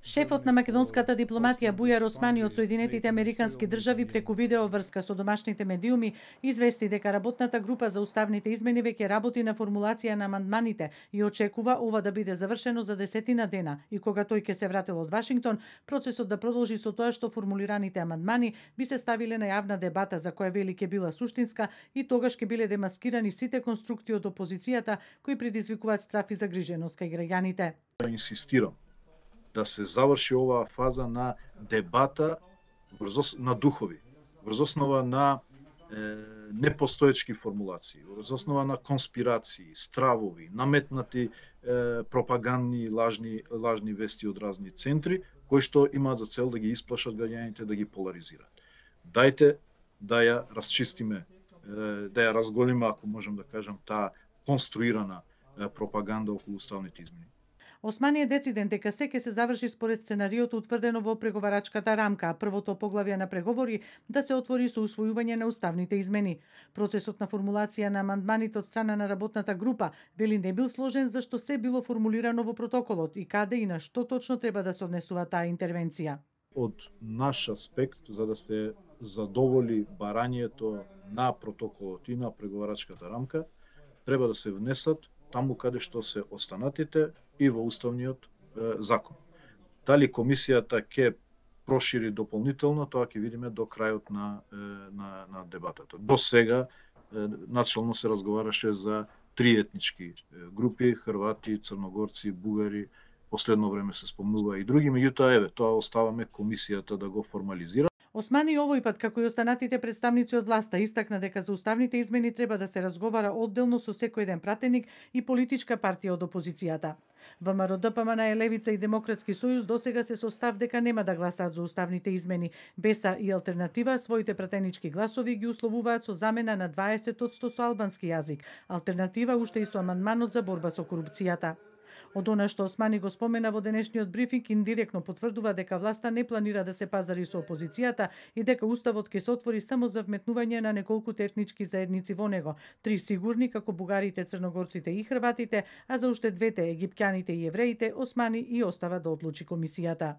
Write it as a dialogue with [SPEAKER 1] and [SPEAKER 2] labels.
[SPEAKER 1] Шефот на македонската дипломатија Бујар Османи од Соединетите Американски држави преку видеоврска со домашните медиуми извести дека работната група за уставните измени веќе работи на формулација на амандманите и очекува ова да биде завршено за 10 дена и кога тој ќе се врател од Вашингтон, процесот да продолжи со тоа што формулираните амандмани би се ставиле на јавна дебата за која вели ќе била суштинска и тогаш ќе биле демаскирани сите конструкти од опозицијата кои предизвикуваат страф и загриженост кај граѓаните.
[SPEAKER 2] Инсистирам да се заврши оваа фаза на дебата на духови, врз основа на непостоечки формулации, врз основа на конспирации, стравови, наметнати пропагандни лажни вести од разни центри, кои што имаат за цел да ги исплашат граѓаните, да ги поларизираат. Дајте да ја расчистиме, да ја разголиме, ако можам да кажам, таа конструирана пропаганда околу уставните измени.
[SPEAKER 1] Османи е дециден дека се ќе се заврши според сценариото утврдено во преговарачката рамка, првото поглавје на преговори да се отвори со усвојување на уставните измени. Процесот на формулација на амандманите од страна на работната група вели не бил сложен зашто се било формулирано во протоколот и каде и на што точно треба да се однесува таа интервенција.
[SPEAKER 2] Од наш аспект, за да се задоволи барањето на протоколот и на преговарачката рамка, треба да се внесат таму каде што се останатите и во уставниот закон. Дали комисијата ќе прошири дополнително, тоа ќе видиме до крајот на дебатата. До сега начално се разговараше за 3 етнички групи: хрвати, црногорци, бугари, последно време се спомнува и други, меѓутоа еве, тоа оставаме комисијата да го формализира.
[SPEAKER 1] Османи овој пат, како и останатите представници од власта, истакна дека за уставните измени треба да се разговара одделно со секој еден пратеник и политичка партија од опозицијата. ВМРО, ДПМН, Левица и Демократски сојуз досега се со став дека нема да гласаат за уставните измени. Беса и Алтернатива своите пратенички гласови ги условуваат со замена на 20% со албански јазик. Алтернатива уште и со амандманот за борба со корупцијата. Од она што Османи го спомена во денешниот брифинг, индиректно потврдува дека власта не планира да се пазари со опозицијата и дека уставот ќе се отвори само за вметнување на неколку етнички заедници во него, 3 сигурни како бугарите, црногорците и хрватите, а за уште 2 египќаните и евреите, Османи и остава да одлучи комисијата.